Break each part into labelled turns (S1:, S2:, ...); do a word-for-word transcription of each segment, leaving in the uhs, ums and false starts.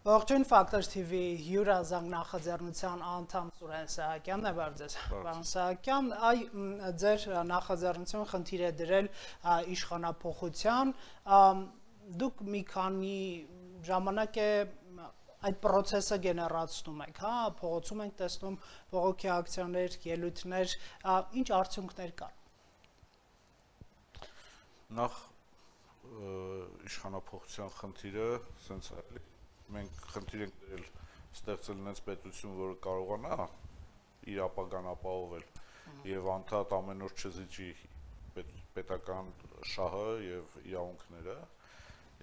S1: Ողջույն Factor T V հյուրազանգ նախաձեռնության անդամ Սուրեն Սահակյանն է բարձր։ Պարոն Սահակյան, այ ձեր նախաձեռնությունը խնդիր է դրել իշխանափոխության, դուք մի քանի ժամանակ է այդ process-ը գեներացնում եք, հա, փողոցում ենք տեսնում բողոքի ակցիաներ, ելույթներ, ինչ արդյունքներ կան։
S2: Նախ իշխանափոխության խնդիրը սենց է, մենք խնդիր ենք դրել ստեղծել նենց պետություն, որը կարողանա իր ապագան ապահովել եւ անդադ ամեն օր չզիջի պետական շահը եւ իրավունքները,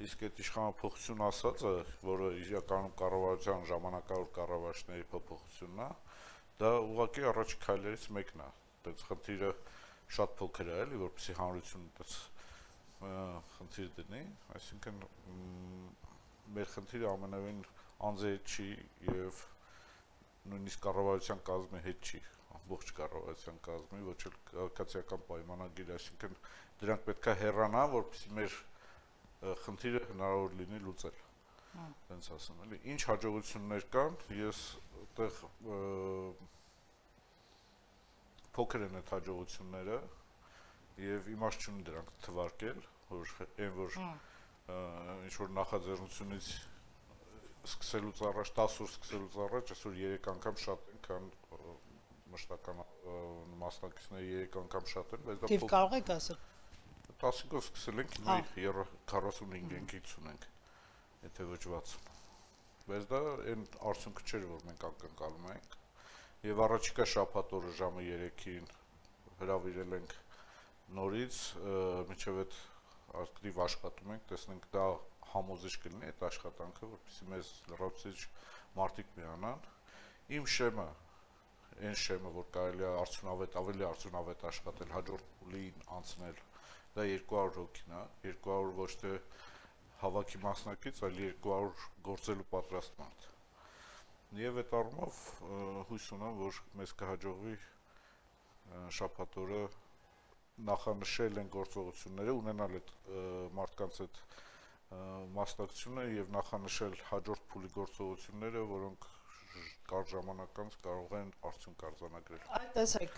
S2: իսկ այդ իշխանափոխություն ասածը, որը իրականում կառավարության ժամանակավոր կառավարիչների փոփոխությունն է, դա ուղղակի առաջի քայլերից մեկն է, այդպես խնդիրը շատ փոքր է, էլի, որպեսզի հանրությունը այդպես խնդիր դնի, այսինքն մեր խնդիրը ամենևին անձի հետ չի եւ նույնիսկ կառավարության կազմի հետ չի, ամբողջ կառավարության կազմի, ոչ էլ քաղաքացիական պայմանագիր, այսինքն դրանք պետք է հեռանան, որպեսզի մեր խնդիրը հնարավոր լինի լուծել։ Տենց ասեմ, էլի, ինչ հաջողություններ կան, ես այդտեղ փոքր են այդ հաջողությունները եւ իմաստ չունի դրանք թվարկել, որ այն որ ինչ-որ նախաձեռնությունից սկսելուց առաջ, տասը օր սկսելուց առաջ, այսօր երեք անգամ շատ են, քան մշտական մասնակիցները երեք անգամ շատ են, բայց դա
S1: Թիվ կարող եք ասել։
S2: տասնով սկսել ենք, հիմա քառասունհինգ ենք, հինգ ենք, եթե ոչ վաթսուն։ Բայց դա այն արդյունքը չէր, որ մենք ակնկալում ենք, եւ առաջիկա շաբաթ օրը ժամը երեքին հրավիրել ենք նորից, մինչև այդ ակտիվ աշխատում ենք, տեսնենք դա համոզիչ կլինի այդ աշխատանքը, որպեսզի մեզ լրացուցիչ մարդիկ միանան։ Իմ շեմը, այն շեմը, որ կարելի է արդյունավետ, ավելի արդյունավետ աշխատել, հաջորդ փուլին անցնել, դա երկու հարյուր հոգին է, երկու հարյուր ոչ թե հավաքի մասնակից, այլ երկու հարյուր գործելու պատրաստ մարդ։ Եվ այդ առումով հույս ունեմ, որ մեզ կհաջողվի շաբաթ օրը նախանշել են գործողությունները, ունենալ այդ մարդկանց այդ մասնակցությունը եւ նախանշել հաջորդ փուլի գործողությունները, որոնք կարճ ժամանակ անց կարող են արդյունք արձանագրել։
S1: Այդ տեսեք,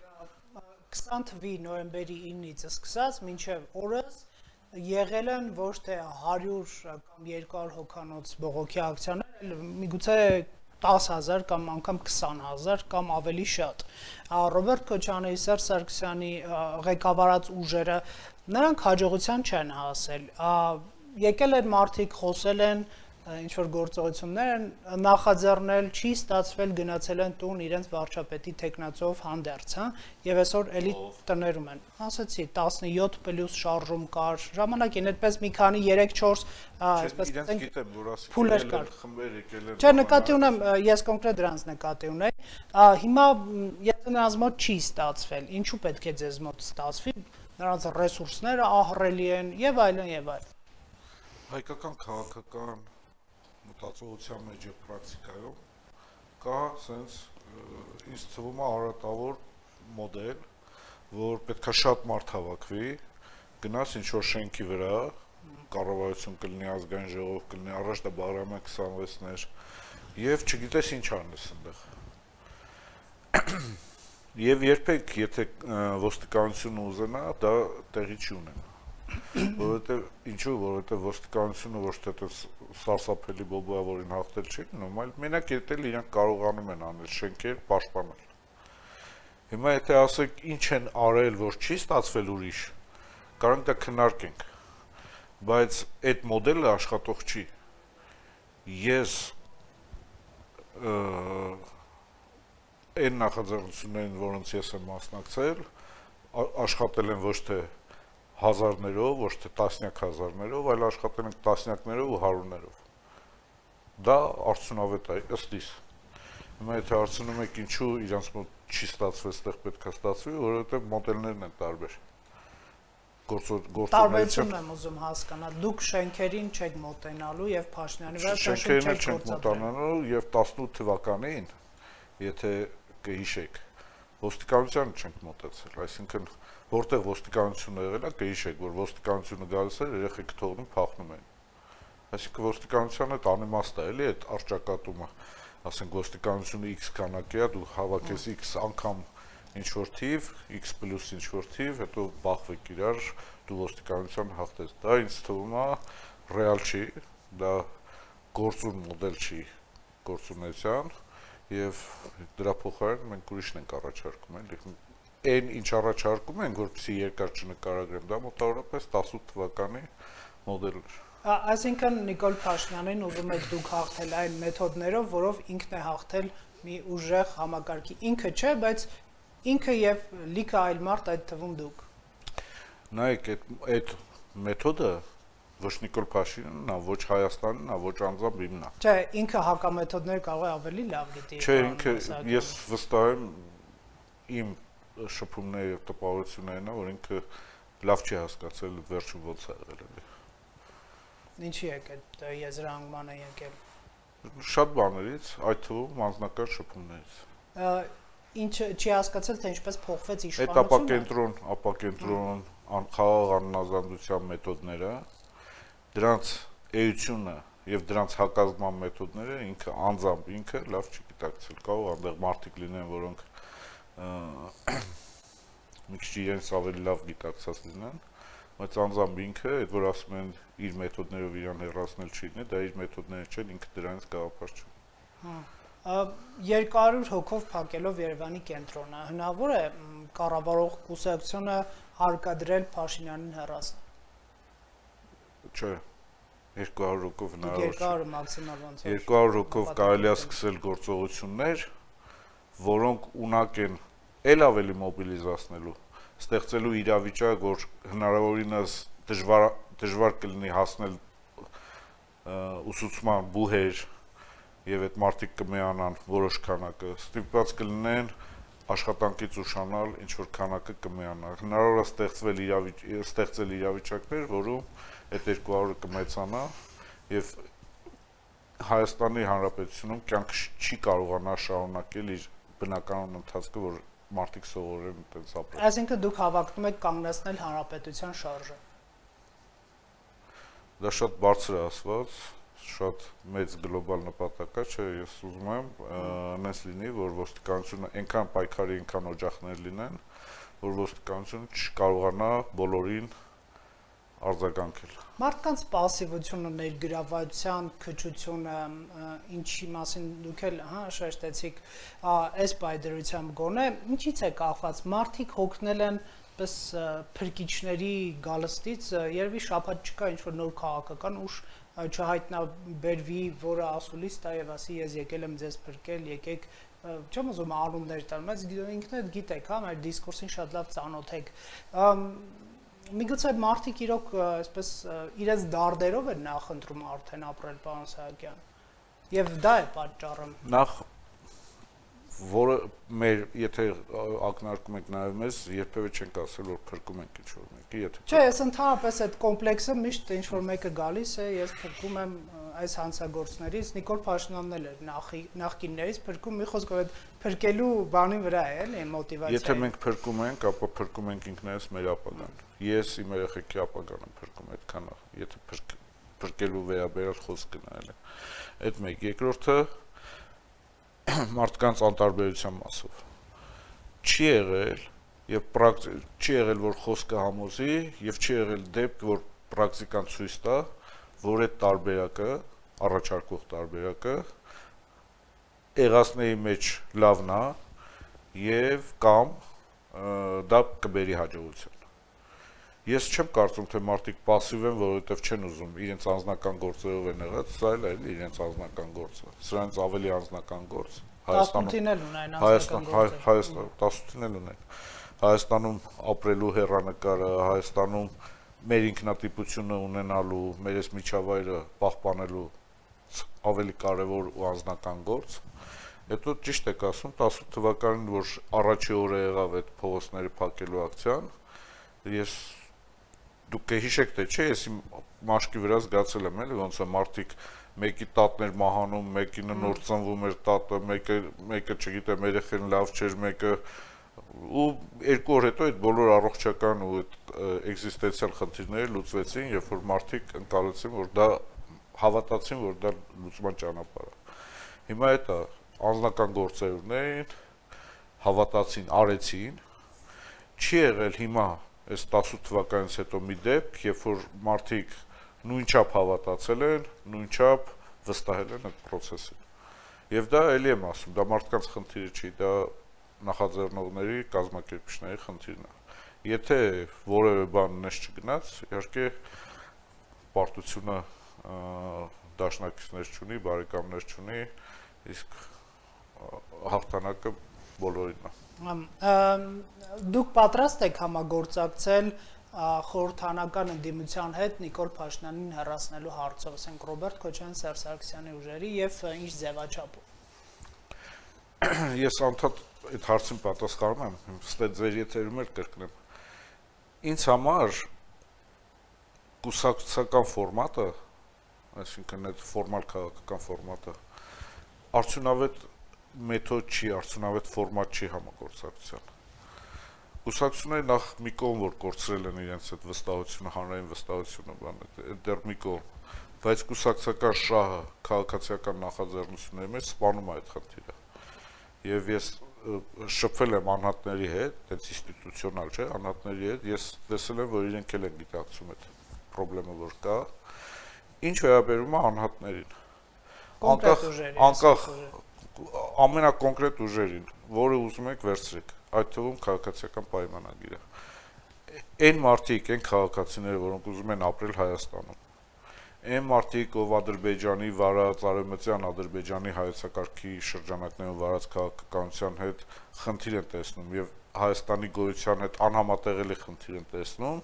S1: քսան թվականի նոյեմբերի իննից սկսած մինչև օրս եղել են ոչ թե հարյուր կամ երկու հարյուր հոգանոց բողոքի ակցիաներ, միգուցե տասը հազար կամ անգամ քսան հազար կամ ավելի շատ։ Ռոբերտ Քոչարյանի, Սերժ Սարգսյանի ղեկավարած ուժերը նրանք հաջողության չեն հասել։ Եկել են մարդիկ, խոսել են, ինչ որ գործողություններ են նախաձեռնել, չի ստացվել, գնացել են տուն իրենց վարչապետի տեխնացով հանդերձ, հա, եւ այսօր էլի տներում են։ Ասացի տասնյոթ պլյուս շարժում կար, ժամանակին այդպես մի քանի երեք չորս, այսպես
S2: ասենք, գիտեմ, որ ասի
S1: փուլեր կար։
S2: Խմբեր եկել են։
S1: Չէ, նկատի ունեմ, ես կոնկրետ դրանց նկատի ունեի։ Հիմա եթե նրանց մոտ չի ստացվել, ինչու պետք է ձեզ մոտ ստացվի, նրանց ռեսուրսները ահռելի են եւ այլն եւ այլն։
S2: Հայկական քաղաքական մտածողության մեջ եւ պրակտիկայում կա sense ինձ թվում է արատավոր մոդել, որ պետքա շատ մարդ հավաքվի, գնաս ինչ որ շենքի վրա, կառավարություն կլինի, ազգային ժողով կլինի, առաջ դա Բաղրամյան քսանվեցներ եւ չգիտես ինչ անես այնտեղ։ Եվ երբեք եթե ոստիկանությունը ուզենա, դա տեղի չի ունենա։ Որովհետեւ ինչու, որովհետեւ ոստիկանությունը ոչ թե սարսափելի բոբոավորին հաղթել չի գնում, այլ մենակ երբել իրանք կարողանում են անել շենքեր, պաշտպանել։ Հիմա եթե ասեք ինչ են արել, որ չի ստացվել ուրիշ, կարող դա քննարկենք, բայց այդ մոդելը աշխատող չի։ Ես այն նախաձեռնություններին, որոնց ես եմ մասնակցել, աշխատել են ոչ թե հազարներով, ոչ թե տասնյակ հազարներով, այլ աշխատել ենք տասնյակներով ու հարյուրներով։ Դա արդյունավետ է, ըստ իս։ Հիմա եթե հարցնում եք ինչու իրանց մոտ չի ստացվել, այդտեղ պետք է ստացվի, որովհետև մոդելներն են տարբեր։
S1: Տարբերությունն եմ ուզում հասկանալ, դուք շենքերին չեք մոտենալու եւ Փաշինյանի վրա
S2: շենքերին չեք մոտենալու եւ տասնութ թվականին, եթե կհիշեք, ոստիկանությանը չենք մոտեցել, այսինքն որտեղ ոստիկանությունը եղել է, կհիշեք, որ ոստիկանությունը գալիս էր, երեխեքը թողնում փախնում են։ Այսինքն ոստիկանության այդ անիմաստ է, էլի այդ արճակատումը, ասենք ոստիկանությունը X քանակի է, դու հավաքես X անգամ ինչ-որ թիվ, X պլյուս ինչ-որ թիվ, հետո բախվեք իրար, դու ոստիկանության հաղթես։ Դա ինձ թվում է ռեալ չի, դա գործուն մոդել չի գործունեության, եւ դրա փոխարեն մենք ուրիշն ենք առաջարկում, էլի։ Այն ինչ առաջարկում ենք, որպեսզի երկար չնկարագրեմ, դա մոտավորապես տասութ թվականի մոդել էր։
S1: Այսինքն Նիկոլ Փաշինյանին ուզում եք դուք հաղթել այն մեթոդներով, որով ինքն է հաղթել մի ուժեղ համակարգի, ինքը չէ, բայց ինքը եւ լիքը այլ մարդ, այդ թվում դուք։
S2: Նայեք, այդ մեթոդը ոչ Նիկոլ Փաշինյանն է, ոչ Հայաստանն է, ոչ անձամբ իմն է։
S1: Չէ, ինքը հակամեթոդներ կարող է ավելի լավ գիտի։
S2: Չէ, ինքը ես վստահ եմ իմ շփումների եւ տպավորություններն է, որ ինքը լավ չի հասկացել վերջում ոնց է եղել էլի։
S1: Ինչի եք այդ եզրահանգմանը եկել։
S2: Շատ բաներից, այդ թվում անձնական շփումներից։
S1: Ինչը չի հասկացել, թե ինչպես փոխվեց իշխանությունը։
S2: Այդ ապակենտրոն, ապակենտրոն, խաղաղ անհնազանդության մեթոդները, դրանց էությունը եւ դրանց հակազդման մեթոդները ինքը անձամբ ինքը լավ չի գիտակցել։ Կարող այնտեղ մարդիկ լինեն, որոնք մի քիչ իրենց ավելի լավ գիտակցած լինեն, բայց անձամբ ինքը, այդ որ ասում են իր մեթոդներով իրան հեռացնել չի լինի, դա իր մեթոդները չեն, ինքը դրանից գաղափար չունի։
S1: երկար հոգով փակելով Երևանի կենտրոնը, հնարավոր է կառավարող կուսակցությունը հարկադրել Փաշինյանին հեռացնել։
S2: Չէ, երկու հարյուր հոգով հնարավոր չէ։
S1: երկու հարյուր մաքսիմալ ոնց է։
S2: երկու հարյուր հոգով կարելի է սկսել գործողություններ, որոնք ունակ են էլ ավելի մոբիլիզացնելու, ստեղծելու իրավիճակ, որ հնարավորինս դժվար դժվար կլինի հասնել ուսուցման բուհեր եւ այդ մարդիկ կմիանան որոշ քանակը, ստիպված կլինեն աշխատանքից ուշանալ, ինչ որ քանակը կմիանա։ Հնարավոր է ստեղծվել իրավիճակ, ստեղծել իրավիճակներ, որում այդ երկու հարյուրը կմեծանա եւ Հայաստանի Հանրապետությունում կյանքը չի կարողանա շարունակել իր բնականon ընթացքը, որ մարդիկ սովորեն այդպես ապրել։
S1: Այսինքն դուք հավակնում եք կանգնեցնել հանրապետության շարժը։
S2: Դա շատ բարձր է ասված, շատ մեծ գլոբալ նպատակ է, չէ, ես ուզում եմ այնպես լինի, որ ոստիկանությունը այնքան պայքարի, այնքան օջախներ լինեն, որ ոստիկանությունը չկարողանա բոլորին արձագանքել։
S1: Մարդկանց պասիվությունը, ներգրավվածության քչությունը, ինչի մասին դուք էլ հա շեշտեցիք, այս բայդրությամբ գոնե, ինչից է կախված, մարդիկ հոգնել են պես փրկիչների գալստից, երևի շաբաթ չկա ինչ-որ նոր քաղաքական ուժ չհայտնաբերվի, որը ասուլիս տա եւ ասի ես եկել եմ ձեզ փրկել, եկեք, չեմ ուզում անուններ տալ, բայց ինքն էլ գիտեք, հա, մեր դիսկուրսին շատ լավ ծանոթ եք։ Միգուցե մարդիկ իրոք այսպես իրենց դարդերով են նախընտրում արդեն ապրել, պարոն Սահակյան, եւ դա է պատճառը։
S2: Նախ որը մեր եթե ակնարկում եք նաեւ մեզ, երբևէ չենք ասել, որ փրկում ենք ինչ-որ մեկի, եթե
S1: Չէ, ես ընդհանրապես այդ կոմպլեքսը միշտ ինչ-որ մեկը գալիս է, ես փրկում եմ այս հանցագործներից, Նիկոլ Փաշինյանն էլ էր նախկիններից փրկում, մի խոսքով այդ փրկելու բանի վրա է, էլի, մոտիվացիա։
S2: Եթե մենք փրկում ենք, ապա փրկում ենք ինքներս մեր ապագան։ Ես իմ երեխեքի ապագան եմ փրկում, այդքան է, եթե փրկելու վերաբերյալ խոսք գնալ է։ Այդ մեկ, երկրորդը մարդկանց անտարբերության մասով չի եղել եւ չի եղել, որ խոսքը համոզի եւ չի եղել դեպք, որ պրակտիկան ցույց տա, որ այդ տարբերակը, առաջարկող տարբերակը եղածների մեջ լավն է եւ կամ դա կբերի հաջողություն։ Ես չեմ կարծում, թե մարդիկ пассив են, որովհետեւ չեն ուզում, իրենց անձնական գործերով են եղած, սա էլ է իրենց անձնական գործը։ Սրանց ավելի անձնական գործ
S1: Հայաստանում էլ ունեն անձնական գործ։
S2: Հայաստան տասնութին էլ ունեն։ Հայաստանում ապրելու հեռանկարը, Հայաստանում մեր ինքնատիպությունը ունենալու, մեր այս միջավայրը պահպանելու ավելի կարևոր ու անձնական գործ։ Հետո ճիշտ եք ասում, տասութ թվականին, որ առաջի օրը եղավ այդ փողոցների փակելու ակցիան, ես դուք կհիշեք թե չէ, ես իմ մաշկի վրա զգացել եմ, էլի ոնց է մարդիկ մեկի տատն էր մահանում, մեկինը նոր ծնվում էր տատը, մեկը մեկը չգիտեմ, երեխեն լավ չէր, մեկը ու երկու օր հետո այդ բոլոր առողջական ու այդ էքզիստենցիալ խնդիրները լուծվեցին, երբ որ մարդիկ ընկալեցին, որ դա հավատացին, որ դա լուծման ճանապարհ է։ Հիմա այդ անձնական գործերն էին, հավատացին, արեցին, չի եղել հիմա այս տասութ թվականից հետո մի դեպք, երբ որ մարդիկ նույնչափ հավատացել են, նույնչափ վստահել են այդ process-ին։ Եվ դա էլի եմ ասում, դա մարդկանց խնդիրը չի, դա նախաձեռնողների, կազմակերպիչների խնդիրն է։ Եթե որևէ բան նես չգնաց, իհարկե պարտությունը դաշնակիցներ չունի, բարեկամներ չունի, իսկ հաղթանակը բոլորին է։
S1: Դուք պատրաստ եք համագործակցել խորհրդանական ընդդիմության հետ Նիկոլ Փաշինյանին հեռացնելու հարցով, ասենք Ռոբերտ Քոչարյան, Սերժ Սարգսյանի ուժերի եւ ինչ ձևաչափով։
S2: Ես անդադ այդ հարցին պատասխանում եմ, ստե ձեր եթերում էլ կրկնեմ։ Ինձ համար կուսակցական ֆորմատը, այսինքն այդ ֆորմալ քաղաքական ֆորմատը, արդյունավետ մեթոդ չի, արդյունավետ ֆորմատ չի համագործակցության։ Կուսակցությունները նախ մի կողմ որ կորցրել են իրենց այդ վստահությունը, հանրային վստահությունը, դեռ մի կողմ, բայց կուսակցական շահը քաղաքացիական նախաձեռնությունների մեջ սպանում է այդ խնդիրը։ Եվ ես շփվել եմ անհատների հետ, այդ ինստիտուցիոնալ չէ, անհատների հետ, ես տեսել եմ, որ իրենք էլ են գիտակցում այդ խնդրը, որ կա։ Ինչ վերաբերում է անհատներին։ Անկախ անկախ ամենակոնկրետ ուժերին, որը ուզում եք վերցրեք, այդ թվում քաղաքացիական պայմանագիրը։ Այն մարդիկ, այն քաղաքացիները, որոնք ուզում են ապրել Հայաստանում, այն մարդիկ, ով Ադրբեջանի վարած, արևմտյան Ադրբեջանի հայեցակարգի շրջանակներում վարած քաղաքականության հետ խնդիր են տեսնում եւ Հայաստանի գոյության հետ անհամատեղելի խնդիր են տեսնում,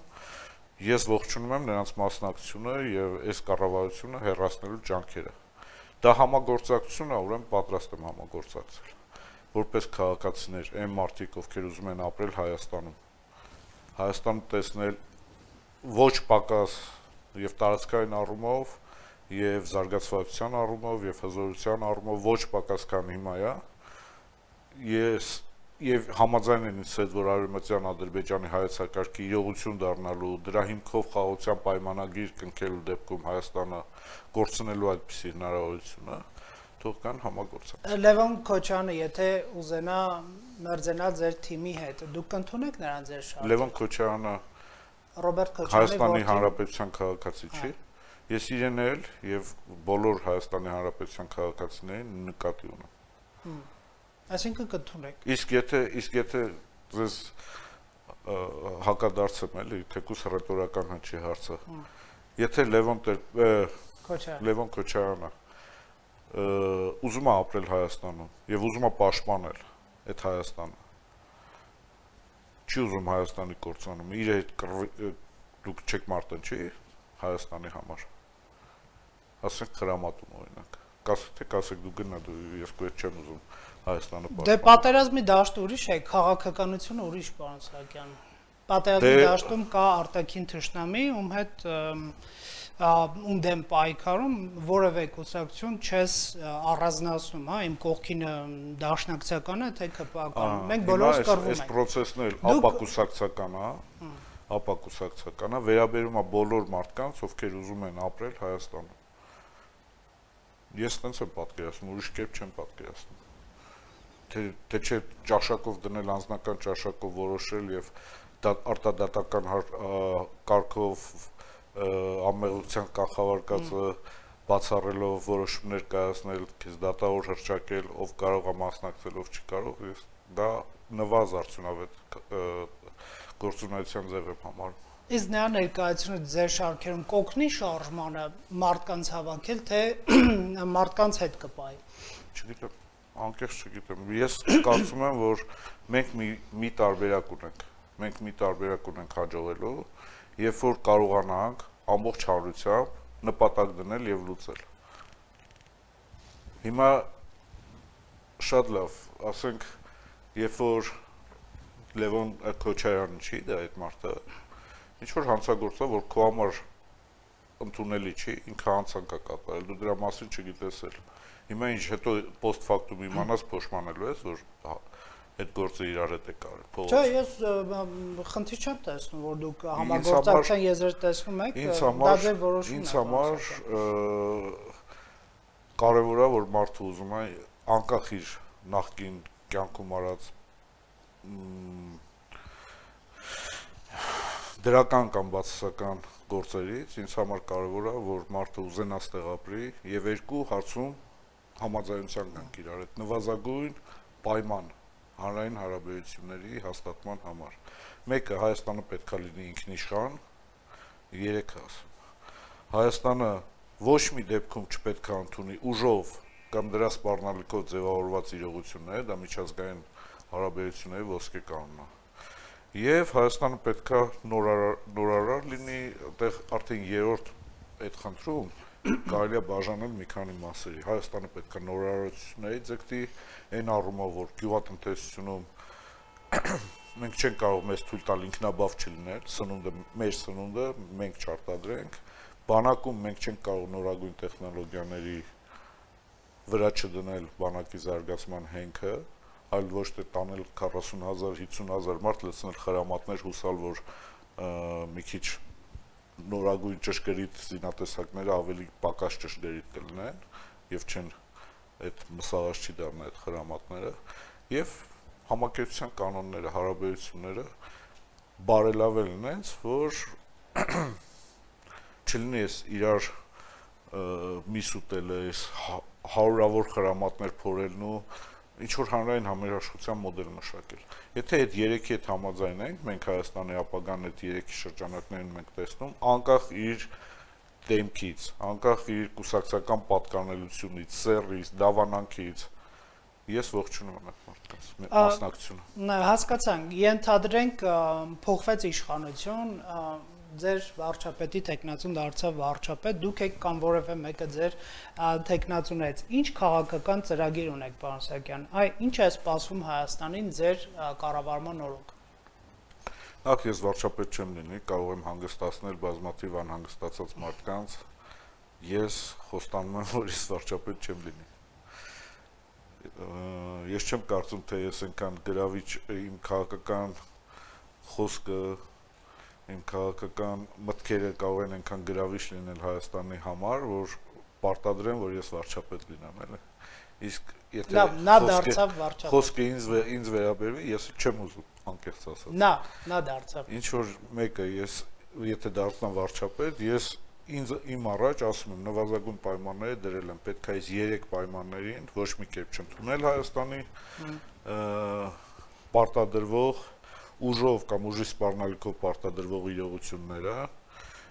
S2: ես ողջունում եմ նրանց մասնակցությունը եւ այս կառավարությունը հեռացնելու ջանքերը։ Դա համագործակցություն է, ուրեմն պատրաստ եմ համագործակցել։ Որպես քաղաքացիներ, այն մարդիկ, ովքեր ուզում են ապրել Հայաստանում, Հայաստանը տեսնել ոչ պակաս եւ տարածքային առումով, եւ զարգացվածության առումով, եւ հզորության առումով ոչ պակաս քան հիմա է, ես եւ համաձայն եմ ինձ հետ, որ արևմտյան Ադրբեջանի հայեցակարգի իրողություն դառնալու, դրա հիմքով խաղաղության պայմանագիր կնքելու դեպքում Հայաստանը կորցնելու այդպիսի հնարավորությունը, թող կան համագործակցություն։
S1: Լևոն Քոչյանը, եթե ուզենա մերձենալ ձեր թիմի հետ, դուք կընդունեք նրան ձեր շարքը։
S2: Լևոն Քոչյանը
S1: Ռոբերտ Քոչյանի
S2: Հայաստանի Հանրապետության քաղաքացի չի։ Ես իրեն էլ եւ բոլոր Հայաստանի Հանրապետության քաղաքացիներին նկատի ունեմ։
S1: Այսինքն կընդունեք։
S2: Իսկ եթե իսկ եթե ձեզ հակադարձեմ էլի, թեկուս ռետորական հնչի հարցը։ Եթե Լևոն Լևոն Քոչարյանը ուզում է ապրել Հայաստանում եւ ուզում է պաշտպանել այդ Հայաստանը, չի ուզում Հայաստանի կորցանում, իր հետ դուք չեք մարտնչի Հայաստանի համար, ասենք խրամատում օրինակ, կասեք թե կասեք դու գնա, դու ես քո հետ չեմ ուզում Հայաստանը պաշտպանել։
S1: Դե պատերազմի դաշտը ուրիշ է, քաղաքականությունը ուրիշ, պարոն Սահակյան։ Պատերազմի դաշտում կա արտաքին թշնամի, ում հետ ում դեմ պայքարում որևէ կուսակցություն չես առանձնացնում, հա, իմ կողքին դաշնակցական է, թե ԿՊԱ-ական։ Մենք բոլորս կռվում ենք։
S2: Այս process-ն էլ ապակուսակցական է, ապակուսակցական է, վերաբերում է բոլոր մարդկանց, ովքեր ուզում են ապրել Հայաստանում։ Ես տենց եմ պատկերացնում, ուրիշ կերպ չեմ պատկերացնում։ Թե չէ ճաշակով դնել, անձնական ճաշակով որոշել եւ արտադատական կարգով ամեղության կանխավարկածը բացառելով որոշումներ կայացնել, քեզ դատավոր հռչակել, ով կարող է մասնակցել, ով չի կարող, ես դա նվազ արդյունավետ գործունեության ձև եմ համարում։
S1: Իսկ նրա ներկայությունը ձեր շարքերում կօգնի շարժմանը մարդկանց հավաքել, թե մարդկանց հետ կպայի։
S2: Չգիտեմ, անկեղծ չգիտեմ։ Ես կարծում եմ, որ մենք մի մի տարբերակ ունենք։ Մենք մի տարբերակ ունենք հաջողելու, երբ որ կարողանանք ամբողջ հանրությամբ նպատակ դնել եւ լուծել։ Հիմա շատ լավ, ասենք, երբ որ Լևոն Քոչարյանը չի, դա այդ մարդը, ինչ որ հանցագործա, որ քո համար ընդունելի չի, ինքը հանցանք է կատարել, դու դրա մասին չգիտես էլ։ Հիմա ինչ հետո post factum իմանաս փոշմանելու ես, որ այդ գործը իրար հետ է կարել փողոց։
S1: Չէ, ես խնդիր չեմ տեսնում, որ դուք համագործակցության եզր տեսնում եք, դա ձեր որոշումն է։
S2: Ինձ համար կարևոր է, որ մարդը ուզում է անկախ իր նախկին կյանքում արած դրական կամ բացասական գործերից, ինձ համար կարևոր է, որ մարդը ուզենա ստեղ ապրի եւ երկու հարցում համաձայնության գանք իրար հետ նվազագույն պայման հանրային հարաբերությունների հաստատման համար։ Մեկը Հայաստանը պետք է լինի ինքնիշխան, երեքը ասում։ Հայաստանը ոչ մի դեպքում չպետք է ընդունի ուժով կամ դրա սպառնալիքով ձևավորված իրողություններ, դա միջազգային հարաբերությունների ոսկե կանոնն է։ Եվ Հայաստանը պետք է նորարար լինի, այդտեղ արդեն երրորդ այդ խնդրում կարելի է բաժանել մի քանի մասերի։ Հայաստանը պետք է նորարարությունների ձգտի, այն առումով, որ գյուղատնտեսությունում մենք չենք կարող մեզ թույլ տալ ինքնաբավ չլինել, սնունդը մեր սնունդը մենք չարտադրենք, բանակում մենք չենք կարող նորագույն տեխնոլոգիաների վրա չդնել բանակի զարգացման հենքը, այլ ոչ թե տանել քառասուն հազար, հիսուն հազար մարդ լցնել խրամատներ հուսալ, որ մի քիչ նորագույն ճշգրիտ զինատեսակները ավելի պակաս ճշգրիտ կլինեն եւ չեն այդ մսաղաշ չի դառնա այդ խրամատները եւ համակերպության կանոնները, հարաբերությունները բարելավել նենց, որ չլինի էս իրար միս ուտելը, էս հարյուրավոր խրամատներ փորելն ու ինչ որ հանրային համերաշխության մոդել մշակել։ Եթե այդ երեքի հետ համաձայնենք, մենք Հայաստանի ապագան այդ երեքի շրջանակներում մենք տեսնում, անկախ իր դեմքից, անկախ իր կուսակցական պատկանելությունից, սեռից, դավանանքից, ես ողջունում եմ այդ մարդկանց մասնակցությունը։
S1: Հասկացանք, ենթադրենք փոխվեց իշխանություն, ձեր վարչապետի տեխնացուն դարձավ վարչապետ, դուք եք կամ որևէ մեկը ձեր տեխնացուներից, ինչ քաղաքական ծրագիր ունեք, պարոն Սահակյան, այ ինչ է սպասվում Հայաստանին ձեր կառավարման օրոք։
S2: Նախ ես վարչապետ չեմ լինի, կարող եմ հանգստացնել բազմաթիվ անհանգստացած մարդկանց, ես խոստանում եմ, որ ես վարչապետ չեմ լինի։ Ես չեմ կարծում, թե ես այնքան գրավիչ իմ քաղաքական խոսքը իմ քաղաքական մտքերը կարող են այնքան գրավիչ լինել Հայաստանի համար, որ պարտադրեմ, որ ես վարչապետ լինեմ, էլի։ Իսկ եթե
S1: նա դարձավ վարչապետ։
S2: Խոսքը ինձ ինձ վերաբերվի, ես չեմ ուզում անկեղծ ասած։
S1: Նա, նա դարձավ։
S2: Ինչ որ մեկը ես եթե դառնամ վարչապետ, ես ինձ իմ առաջ ասում եմ նվազագույն պայմանները դրել եմ, պետք է այս երեք պայմաններին ոչ մի կերպ չընդունել Հայաստանի պարտադրվող ուժով կամ ուժի սպառնալիքով պարտադրվող իրողությունները,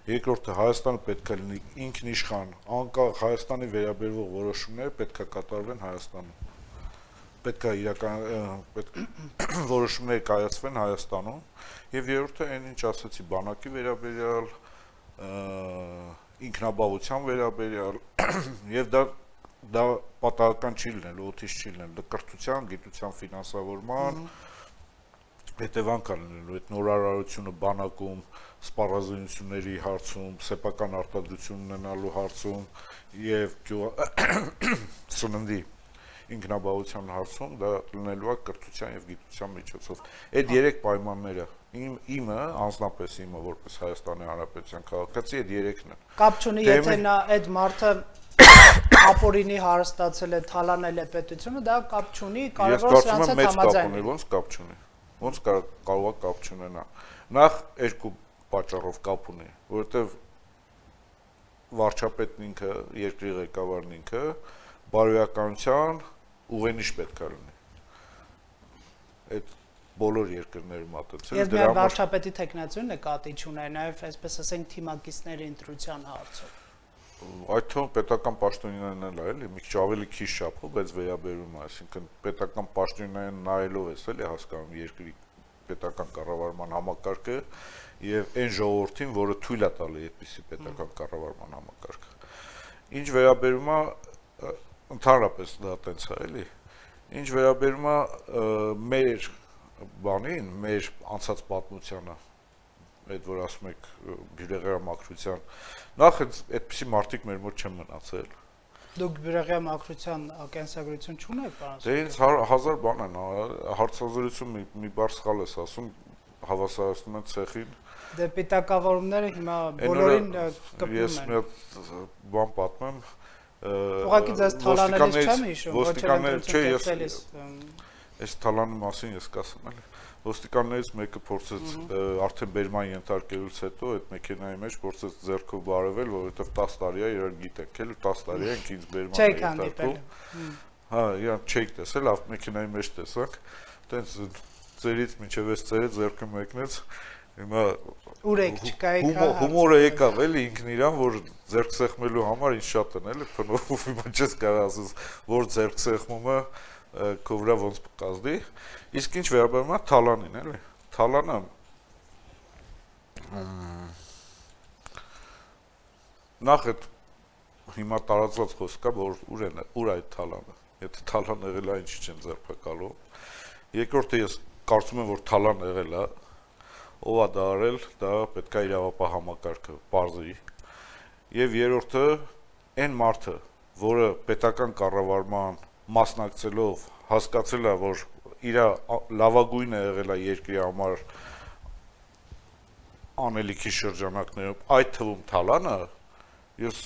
S2: երկրորդը Հայաստանը պետք է լինի ինքնիշխան, անկախ Հայաստանի վերաբերվող որոշումները պետք է կատարվեն Հայաստանում, պետք է իրական որոշումներ կայացվեն Հայաստանում, եւ երրորդը այն ինչ ասացի բանակի վերաբերյալ, ինքնաբավության վերաբերյալ, եւ դա դա պատահական չի լինել, օդից չի լինել, դա կրթության, գիտության ֆինանսավորման հետևանք է լինելու այդ նորարարությունը բանակում, սպառազինությունների հարցում, սեփական արտադրություն ունենալու հարցում եւ սննդի ինքնաբավության հարցում դա լինելու է կրթության եւ գիտության միջոցով։ Այդ երեք պայմանները իմ իմը, անձնապես իմը որպես Հայաստանի Հանրապետության քաղաքացի, այդ երեքն են։
S1: Կապ չունի, եթե նա այդ մարդը ապօրինի հարստացել է, թալանել է պետությունը, դա կապ չունի, կարևորը սրանց հետ համաձայնել։
S2: Ոնց կապ չունի։ Ոնց կարող է կապ չունենա։ Նախ երկու պատճառով կապ ունի, որովհետև վարչապետն ինքը, երկրի ղեկավարն ինքը բարոյականության ուղենիշ պետք է լինի։ Այդ բոլոր երկրներում մատուցել։
S1: Եվ միայն վարչապետի տեխնացիոն նկատի չուներ, նաև այսպես ասենք թիմակիցների ընտրության հարցով։
S2: Այդ թվում պետական պաշտոնյաներն էլ էլի մի քիչ ավելի քիչ շապով, բայց վերաբերում է, այսինքն պետական պաշտոնյաներն նայելով էս էլի հասկանում երկրի պետական կառավարման համակարգը եւ այն ժողովրդին, որը թույլ է տալի այդպիսի պետական կառավարման համակարգը։ Ինչ վերաբերում է ընդհանրապես դա տենց է էլի։ Ինչ վերաբերում է մեր բանին, մեր անցած պատմությանը, այդ որ ասում եք բյուրեղերա մակրության, նախ այդպիսի մարդիկ մեր մոտ չեն մնացել։
S1: Դուք բյուրեղյա մաքրության կենսագրություն չունեք, պարոն։
S2: Դե ինձ հազար բան են, հարցազրույցում մի բառ սխալ ես ասում, հավասարացնում են ցեխին։
S1: Դե պիտակավորումները հիմա բոլորին կպնում են։
S2: Ես մի հատ բան պատմեմ։
S1: Ուղղակի ձեզ թալանելիս չեմ հիշում,
S2: ոստիկաններ, չէ, ես այս թալանի մասին ես կասեմ էլի։ Ոստիկաններից մեկը փորձեց արդեն բերման ենթարկելուց հետո այդ մեքենայի մեջ փորձեց ձեռքով բարևել, որովհետև տասը տարի է իրար գիտենք, էլի տասը տարի է ինձ բերման ենթարկում։ Հա, իրան չէիք տեսել, լավ մեքենայի մեջ տեսանք, տենց ծերից մինչև այս ծերը ձեռքը մեկնեց, հիմա
S1: ուրեք չկայք, հա։
S2: Հումորը եկավ էլի ինքն իրան, որ ձեռք սեղմելու համար ինձ շատ են էլի փնով, հիմա չես կարող ասես, որ ձեռք սեղմումը քո վրա ոնց կազդի, իսկ ինչ վերաբերում է թալանին, էլի, թալանը նախ այդ հիմա տարածված խոսք կա, որ ուր են, ուր այդ թալանը, եթե թալան եղել է, ինչի չեն ձերբակալում, երկրորդը ես կարծում եմ, որ թալան եղել է, ով է դա արել, դա պետք է իրավապահ համակարգը պարզի, եւ երրորդը այն մարդը, որը պետական կառավարման մասնակցելով հասկացել է, որ իր լավագույնը եղել է երկրի համար անելիքի շրջանակներում, այդ թվում թալանը, ես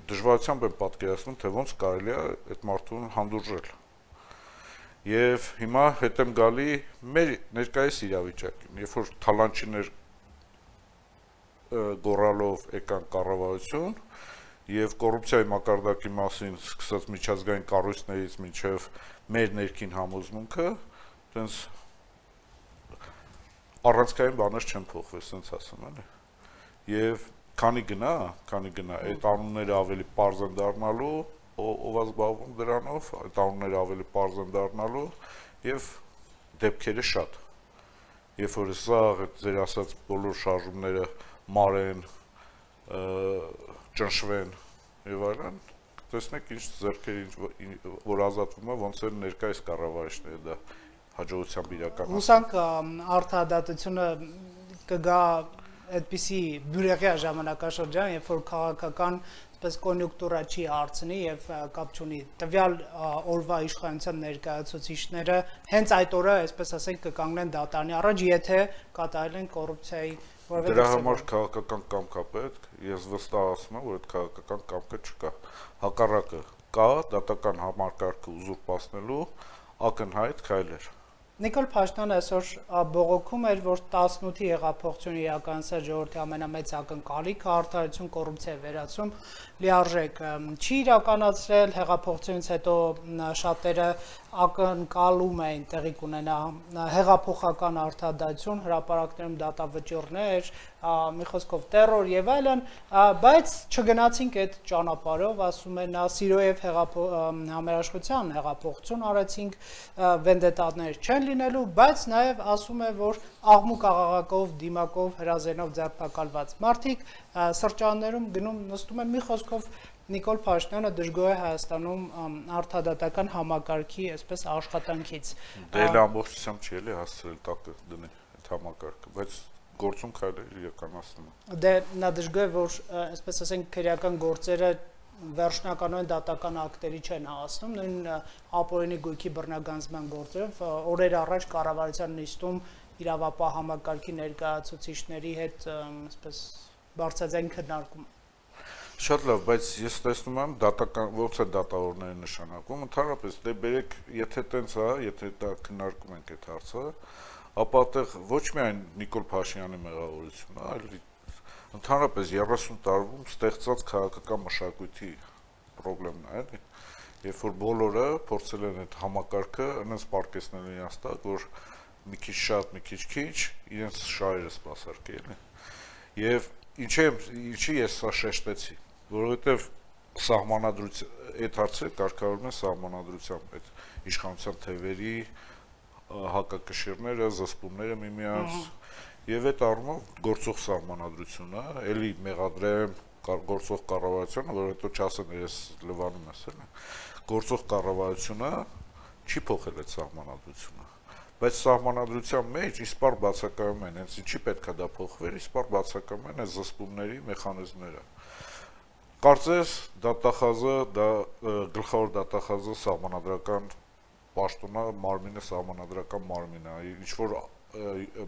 S2: դժվարությամբ եմ պատկերացնում, թե ոնց կարելի է այդ մարդուն հանդուրժել։ Եվ հիմա հետ եմ գալի մեր ներկայիս իրավիճակին, երբ որ թալանչիներ գոռալով եկան կառավարություն, եւ կոռուպցիայի մակարդակի մասին սկսած միջազգային կառույցներից մինչեւ մեր ներքին համոզմունքը, տենց առանցքային բաներ չեն փոխվել, ասենց ասեմ, էլի։ Եվ քանի գնա, քանի գնա, այդ անունները ավելի պարզ են դառնալու, ով է զբաղվում դրանով, այդ անունները ավելի պարզ են դառնալու եւ դեպքերը շատ։ Երբ որ սա ձեր ասած բոլոր շարժումները մարեն, ճնշվեն եւ այլն, տեսնեք ինչ ձեռքերի որ ազատվում է, ոնց են ներկայիս կառավարիչները դա հաջողությամբ իրականացնում։
S1: Հուսանք արդարադատությունը կգա այդպիսի բյուրեղյա ժամանակաշրջան, երբ որ քաղաքական այսպես կոնյունկտուրա չի հարցնի եւ կապ չունի տվյալ օրվա իշխանության ներկայացուցիչները հենց այդ օրը, այսպես ասենք, կկանգնեն դատարանի առաջ, եթե կատարել են կոռուպցիայի
S2: Դրա համար քաղաքական կամք է պետք, ես վստահ ասում եմ, որ այդ քաղաքական կամքը չկա։ Հակառակը կա դատական համակարգը ուզուրպացնելու ակնհայտ քայլեր։
S1: Նիկոլ Փաշինյանը այսօր բողոքում էր, որ տասնութի հեղափոխությունը իրականացած ժողովրդի ամենամեծ ակնկալիքը արդարություն, կոռուպցիայի վերացում լիարժեք չի իրականացրել, հեղափոխությունից հետո շատերը ակնկալում էին տեղի կունենա հեղափոխական արդարադատություն, հրապարակներում դատավճիռներ, մի խոսքով տերոր եւ այլն, բայց չգնացինք այդ ճանապարհով, ասում են, նա սիրոյև համերաշխության հեղափոխություն արեցինք, վենդետաներ չեն լինելու, բայց նաեւ ասում է, որ աղմուկ աղաղակով, դիմակով, հրազենով ձերբակալված մարդիկ սրճարաններում գնում նստում են, մի խոսքով Նիկոլ Փաշինյանը դժգոհ է Հայաստանում արդարադատական համակարգի այսպես աշխատանքից։
S2: Դե էլ ամբողջությամբ չի էլի հասցրել տակը դնի այդ համակարգը, բայց գործում քայլեր իրականացնում է։
S1: Դե նա դժգոհ է, որ այսպես ասենք քրեական գործերը վերջնականորեն դատական ակտերի չեն հասնում, նույն ապօրինի գույքի բռնագանձման գործերով օրեր առաջ կառավարության նիստում իրավապահ համակարգի ներկայացուցիչների հետ այսպես բարձրաձայն քննարկում։
S2: Շատ լավ, բայց ես տեսնում եմ դատական ոնց է դատավորները նշանակում, ընդհանրապես դե բերեք, եթե տենց է, եթե դա քննարկում ենք այդ հարցը, ապա այդտեղ ոչ միայն Նիկոլ Փաշինյանի մեղավորությունն է, այլ ընդհանրապես երեսուն տարվում ստեղծած քաղաքական մշակույթի խնդիրն է, էլի, երբ որ բոլորը փորձել են այդ համակարգը այնպես պարկեսնել իրենց տակ, որ մի քիչ շատ, մի քիչ քիչ իրենց շահերը սպասարկել են։ Եվ ինչի ինչի ես սա շեշտեցի, որովհետև սահմանադրության այդ հարցը կարգավորվում է սահմանադրությամբ, այդ իշխանության թևերի հակակշիռները, զսպումները միմյանց, եւ այդ առումով գործող սահմանադրությունը, էլի մեղադրեմ գործող կառավարությունը, որ հետո չասեն ես լվանում ես, էլի, գործող կառավարությունը չի փոխել այդ սահմանադրությունը, բայց սահմանադրության մեջ իսպար բացակայում են, հենց ինչի պետք է դա փոխվեր, իսպար բացակայում են այս զսպումների մեխանիզմները։ Կարծես դատախազը դա գլխավոր դատախազը սահմանադրական պաշտոնը մարմինը սահմանադրական մարմինը ինչ որ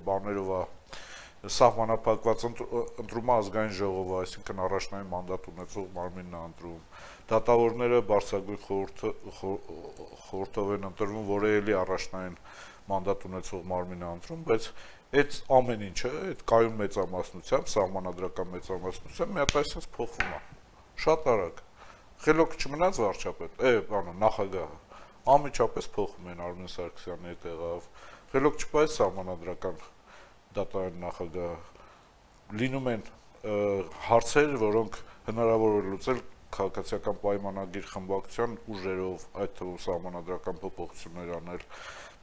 S2: բաներով է սահմանափակված ընտրումը ազգային ժողովը, այսինքն առաջնային մանդատ ունեցող մարմինն է ընտրում։ Դատավորները բարձրագույն խորհրդով են ընտրվում, որը էլի առաջնային մանդատ ունեցող մարմինն է ընտրում, բայց այդ ամեն ինչը, այդ կայուն մեծամասնությամբ, սահմանադրական մեծամասնությամբ մի հատ այսպես փոխվում է։ Շատ արագ։ Խելոք չմնաց վարչապետ, է, բանը նախագահը, անմիջապես փոխում են Արմեն Սարգսյանի հետ եղավ։ Խելոք չպայեց սահմանադրական դատարանի նախագահը։ Լինում են հարցեր, որոնք հնարավոր է լուծել քաղաքացիական պայմանագիր խմբակցության ուժերով, այդ թվում սահմանադրական փոփոխություններ անել։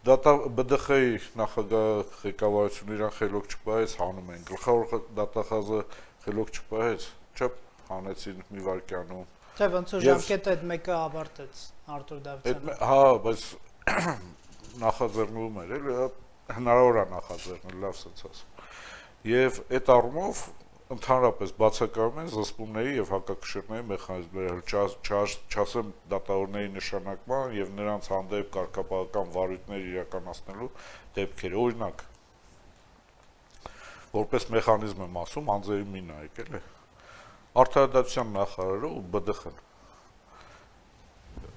S2: ԲԴԽ-ի նախագահ ղեկավարությունը իրան խելոք չպայեց, հանում են։ Գլխավոր դատախազը խելոք չպայեց, չէ՞, հանեցին մի վայրկյանում։
S1: Թե ոնց որ ժամկետը այդ մեկը ավարտեց Արտուր Դավթյանը։
S2: Հա, բայց նախաձեռնվում էր, էլի հնարավոր է նախաձեռնել, լավ sense ասում։ Եվ այդ առումով ընդհանրապես բացակայում են զսպումների եւ հակակշիռների մեխանիզմները, չասեմ դատավորների նշանակման եւ նրանց հանդեպ կարգապահական վարույթներ իրականացնելու դեպքերը։ Օրինակ, որպես մեխանիզմ եմ ասում, անձերի մի նայեք, էլի։ Արդարադատության նախարարը ու ԲԴԽ-ն։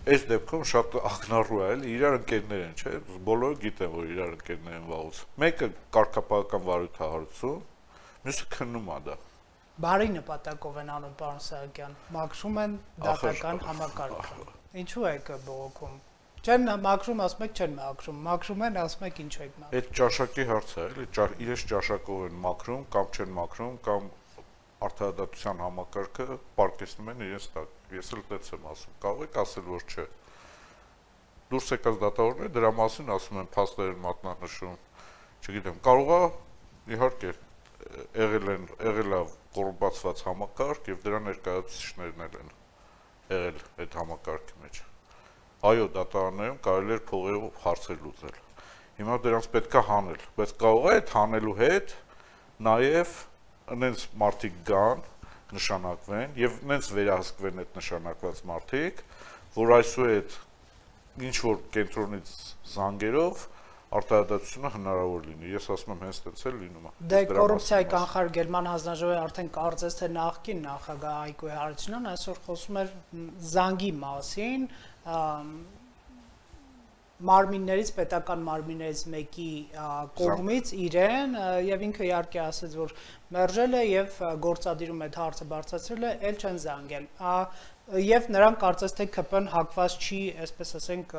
S2: Այս դեպքում շատ ակնառու է, էլի, իրար ընկերներ են, չէ՞, բոլորը գիտեն, որ իրար ընկերներ են վաղուց։ Մեկը կարգապահական վարույթահարություն, մյուսը քննում է դա։
S1: Բարի նպատակով են անում, պարոն Սահակյան, մաքրում են դատական համակարգը։ Ինչու եք բողոքում։ Չեն մաքրում, ասում եք չեն մաքրում, մաքրում են, ասում եք ինչու եք մաքրում։
S2: Այդ ճաշակի հարցը է, էլի, իրենց ճաշակով են մաքրում կամ չեն մաքրում կամ արդարադատության համակարգը պարկեսնում են իրենց տակ։ Ես էլ դից եմ ասում, կարող եք ասել, որ չէ։ Դուրս եկած դատավորները դրա մասին ասում են, փաստեր են մատնանշում, չգիտեմ, կարող է, իհարկե, եղել են, եղել է կոռումպացված համակարգ եւ դրա ներկայացուցիչներն են եղել այդ համակարգի մեջ։ Այո, դատարաններում կարելի էր փողերով հարցեր լուծել։ Հիմա դրանց պետք է հանել, բայց կարող է այդ հանելու հետ նաեւ նենց մարդիկ գան, նշանակվեն եւ նենց վերահսկվեն այդ նշանակված մարդիկ, որ այսուհետ ինչ որ կենտրոնից զանգերով արտահայտությունը հնարավոր լինի։ Ես ասում եմ հենց այդպես էլ լինում է։
S1: Դե կոռուպցիայի կանխարգելման հանձնաժողովի արդեն կարծես թե նախկին նախագահ Հայկո Հարությունյանն այսօր խոսում էր զանգի մասին, մարմիններից, պետական մարմիններից մեկի կողմից իրեն եւ ինքը իհարկե ասաց, որ մերժել է եւ գործադիրում այդ հարցը բարձրացրել է, ել չեն զանգել։ Եվ նրանք կարծես թե ԿՊ-ն հակված չի, այսպես ասենք,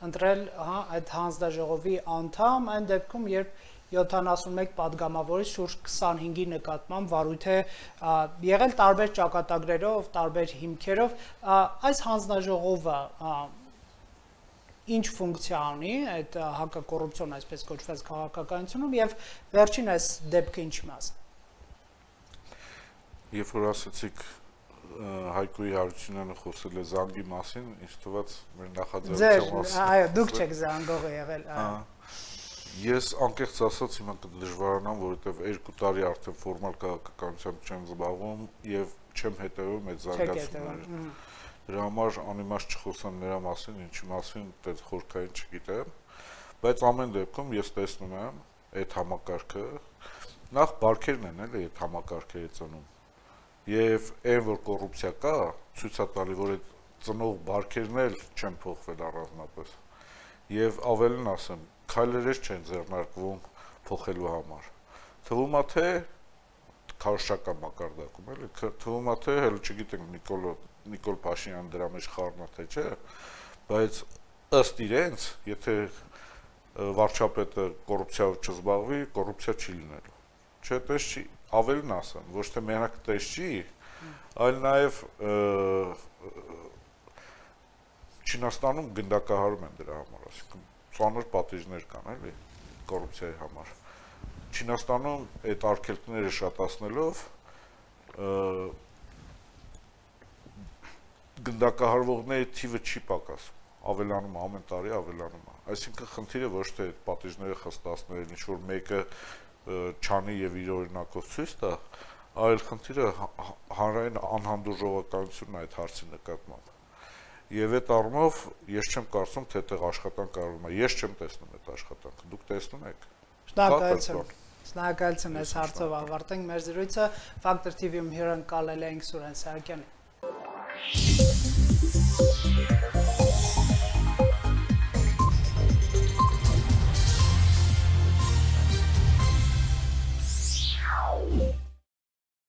S1: ընտրել, հա, այդ հանձնաժողովի անդամ, այն դեպքում, երբ յոթանասունմեկ պատգամավորից շուրջ քսանհինգի նկատմամբ վարույթ է եղել տարբեր ճակատագրերով, տարբեր հիմքերով, այս հանձնաժողովը ինչ ֆունկցիա ունի այդ հակակոռուպցիոն այսպես կոչված քաղաքականությունում եւ վերջին այս դեպքը ինչ մասն։
S2: Երբ որ ասացիք Հայկոյի Հարությունյանը խոսել է զանգի մասին, ինձ թվաց մեր նախաձեռնության մասին։
S1: Այո, դուք չեք զանգողը եղել։
S2: Ես անկեղծ ասած հիմա կդժվարանամ, որովհետեւ երկու տարի արդեն ֆորմալ քաղաքականությամբ չեմ զբաղվում եւ չեմ հետեւում այդ զարգացումներին։ Դրա համար անիմաստ չխոսեմ նրա մասին, ինչի մասին այդպես խորքային չգիտեմ, բայց ամեն դեպքում ես տեսնում եմ այդ համակարգը նախ բարքերն են էլի այդ համակարգերի ծնում։ Եվ այն որ կոռուպցիա կա, ցույց է տալի, որ այդ ծնող բարքերն էլ չեն փոխվել առանձնապես։ Եվ ավելին ասեմ, քայլեր չեն ձեռնարկվում փոխելու համար։ Թվում է թե քարոշչական մակարդակում էլի, թվում է թե հələ չգիտենք Նիկոլ Նիկոլ Փաշինյանը դրա մեջ խառնա թե չէ, բայց ըստ իրենց, եթե վարչապետը կոռուպցիայով չզբաղվի, կոռուպցիա չի լինելու։ Չէ, տես չի, ավելին ասեմ, ոչ թե մենակ տես չի, այլ նաև Չինաստանում գնդակահարում են դրա համար, այսինքն ծանր պատիժներ կան, էլի, կոռուպցիայի համար։ Չինաստանում այդ արգելքները շատացնելով գնդակահարվողների թիվը չի պակասում, ավելանում ամեն տարի ավելանում է։ Այսինքն խնդիրը ոչ թե այդ պատիժները խստացնել, ինչ որ մեկը չանի եւ իր օրինակով ցույց տա, Այլ խնդիրը հանրային անհանդուրժողականությունն է այդ հարցի նկատմամբ։ Եվ այդ առումով ես չեմ կարծում, թե այդտեղ աշխատանք կարողում է։ Ես չեմ տեսնում այդ աշխատանքը։ Դուք տեսնում եք։
S1: Շնորհակալություն։ Շնորհակալություն այս հարցով ավարտենք մեր զրույցը։ Factor T V-ում հյուրընկալել ենք Սուրեն Սահակյանին։